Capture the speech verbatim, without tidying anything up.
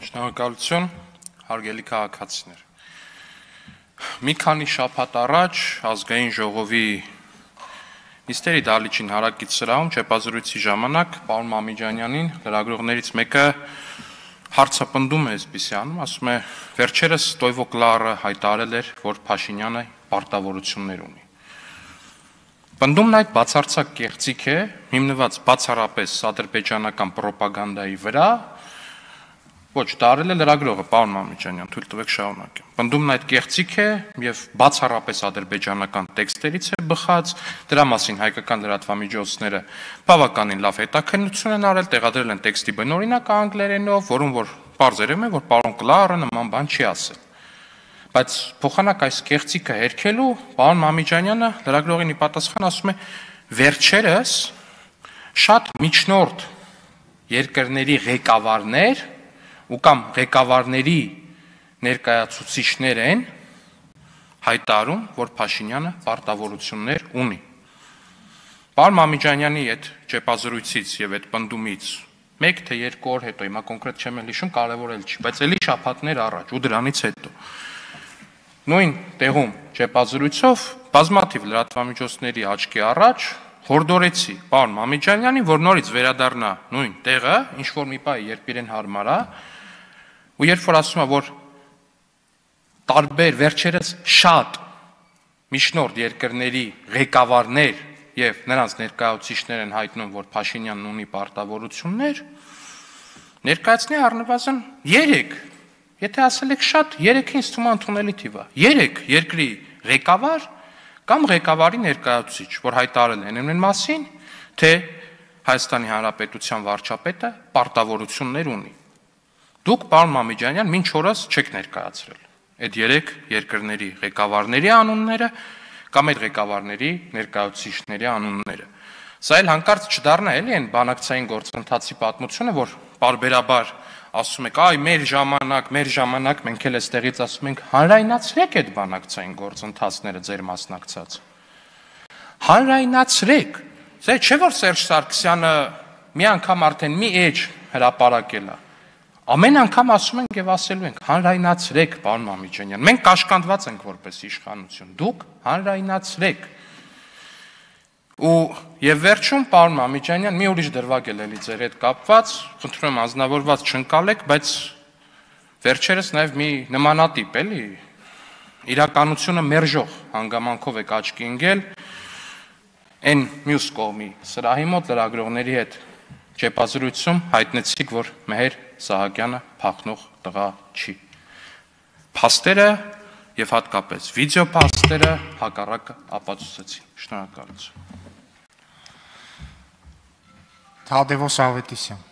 Շնորհակալություն, հարգելի քաղաքացիներ։ Մի քանի շաբաթ առաջ ազգային ժողովի նիստերի դահլիճին հարակից սրահում չեպազրույցի ժամանակ պարոն Մամիջանյանին լրագրողներից մեկը հարցապնդում է այսպիսի անում, ասում է վերջերս Տոյվո Կլարը հայտարարել էր, որ Փաշինյանը պարտավորություններ ունի։ Պնդումն այդ բացարձակ կեղծիք է, հիմնված բացառապես ադրբեջանական պրոպագանդայի վրա, ոչ, դա արել է լրագրողը, պարոն Մամիջանյան, թույլ տվեք շարունակեմ։ Պնդումն այդ կեղծիք է եւ բացառապես ադրբեջանական տեքստերից է բխած, դրա մասին հայկական լրատվամիջոցները բավականին լավ հետաքննություն են արել, տեղադրել են տեքստի բնօրինակ անգլերենով, որում որ պարզերում է, որ պարոն Կլարը նման բան չի ասել։ Բայց փոխանակ այս կեղծիքը հերքելու պարոն Մամիջանյանը լրագրողին ի պատասխան ասում է վերջերս շատ միջնորդ երկրների ղեկավարներ ու կամ ղեկավարների ներկայացուցիչներ են հայտարարում, որ Փաշինյանը պարտավորություններ ունի։ Պարոն Մամիջանյանի այդ ճեպազրույցից եւ այդ պնդումից մեկ թե երկու օր հետո, հիմա կոնկրետ չեմ էլ հիշում, կարևոր էլ չի, բայց էլի շաբաթներ առաջ ու դրանից հետո նույն տեղում ճեպազրույցով բազմաթիվ լրատվամիջոցների աչքի առաջ հորդորեցի պարոն Մամիջանյանին, որ նորից վերադառնա նույն տեղը, ինչ որ մի պահ երբ իրեն հարմար է, ու երբ որ ասում է, որ տարբեր վերջերս շատ միջնորդ երկրների ղեկավարներ եւ նրանց ներկայացուցիչներ են հայտնում, որ Փաշինյանն ունի պարտավորություններ, ներկայացնի առնվազն երեք, եթե ասել եք շատ, երեքը ինձ թվում է ընդունելի թիվ է, երեք երկրի ղեկավար կամ ղեկավարի ներկայացուցիչ, որ հայտարարել են այն մասին, թե Հայաստանի Հանրապետության վարչապետը պարտավորություններ ունի։ Դուք, պարոն Մամիջանյան, մինչ օրս չեք ներկայացրել այդ երեք երկրների ղեկավարների անունները կամ այդ ղեկավարների ներկայացուցիչների անունները։ Սա էլ հանկարծ չդառնա էլի այն բանակցային գործընթացի պատմությունը, որ պարբերաբար ասում եք, այ մեր ժամանակ, մեր ժամանակ, մենք էլ այստեղից ասում ենք, հանրայնացրեք այդ բանակցային գործընթացները ձեր մասնակցած։ Հանրայնացրեք։ Ձեր չէ որ Սերժ Սարգսյանը մի անգամ արդեն մի էջ հրապարակել է։ Ամեն անգամ ասում ենք եւ ասելու ենք, հանրայնացրեք, պարոն Մամիջանյան։ Մենք կաշկանդված ենք որպես իշխանություն։ Դուք հանրայնացրեք։ Ու եւ վերջում պարոն Մամիջանյան մի ուրիշ դրվագ էլ էլի ձեր հետ կապված, խնդրում եմ անznավորված չընկալեք, բայց վերջերս նաեւ մի նմանատիպ էլի իրականությունը մերժող հանգամանքով եք աչքի ընկել այն մյուս կողմի սրահի մոտ լրագրողների հետ ճեպազրույցում հայտնեցիք, որ Մեհեր Սահակյանը փախնող տղա չի։ Փաստերը եւ հատկապես վիդեո փաստերը հակառակը ապացուցեցին։ Շնորհակալություն։ Թադևոս Ավետիսյան